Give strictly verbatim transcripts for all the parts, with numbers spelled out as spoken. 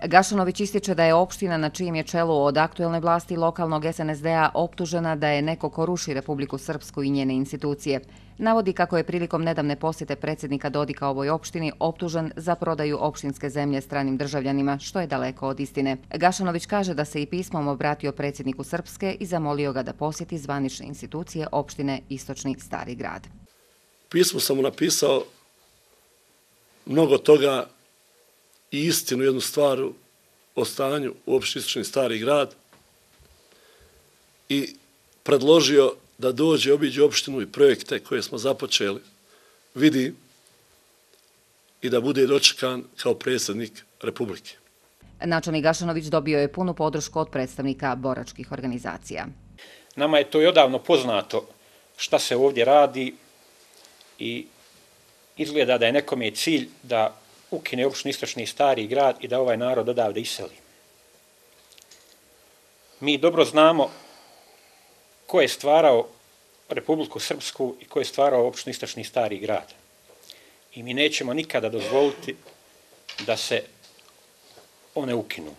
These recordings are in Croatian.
Gašanović ističe da je opština na čijem je čelu od aktuelne vlasti lokalnog S N S D-a optužena da je neko ko ruši Republiku Srpsku i njene institucije. Navodi kako je prilikom nedavne posjete predsjednika Dodika ovoj opštini optužen za prodaju opštinske zemlje stranim državljanima, što je daleko od istine. Gašanović kaže da se i pismom obratio predsjedniku Srpske i zamolio ga da posjeti zvanične institucije opštine Istočni Stari Grad. Pismo sam mu napisao mnogo toga i istinu, jednu stvar o stanju u opštini Istočni Stari Grad i predložio da dođe, obiđe opštinu i projekte koje smo započeli, vidi i da bude dočekan kao predsjednik Republike. Načelnik Gašanović dobio je punu podršku od predstavnika boračkih organizacija. Nama je to i odavno poznato šta se ovdje radi i izgleda da je nekome cilj da ukine opštinu Istočni Stari Grad i da ovaj narod odavde iseli. Mi dobro znamo ko je stvarao Republiku Srpsku i ko je stvarao opštinu Istočni Stari Grad. I mi nećemo nikada dozvoliti da se one ukinu.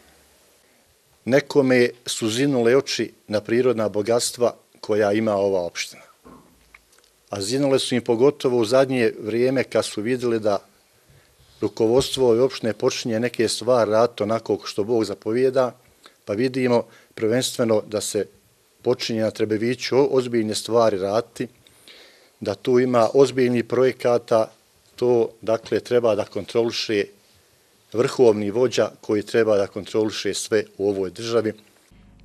Nekome su zinule oči na prirodna bogatstva koja ima ova opština. A zinule su im pogotovo u zadnje vrijeme kad su vidjeli da rukovodstvo ove opštine počinje neke stvari raditi onako što Bog zapovijeda, pa vidimo prvenstveno da se počinje na Trebeviću ozbiljne stvari raditi, da tu ima ozbiljnih projekata, to dakle treba da kontroliše vrhovni vođa koji treba da kontroliše sve u ovoj državi.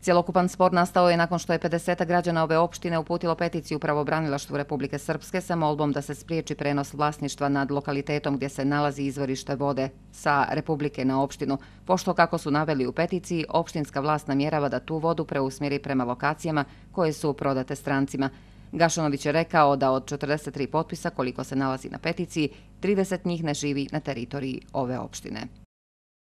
Cjelokupan spor nastao je nakon što je pedeset građana ove opštine uputilo peticiju pravobranilaštvu Republike Srpske sa molbom da se spriječi prenos vlasništva nad lokalitetom gdje se nalazi izvorište vode sa Republike na opštinu, pošto, kako su naveli u peticiji, opštinska vlast namjerava da tu vodu preusmjeri prema lokacijama koje su prodate strancima. Gašanović je rekao da od četrdeset tri potpisa koliko se nalazi na peticiji, trideset njih ne živi na teritoriji ove opštine.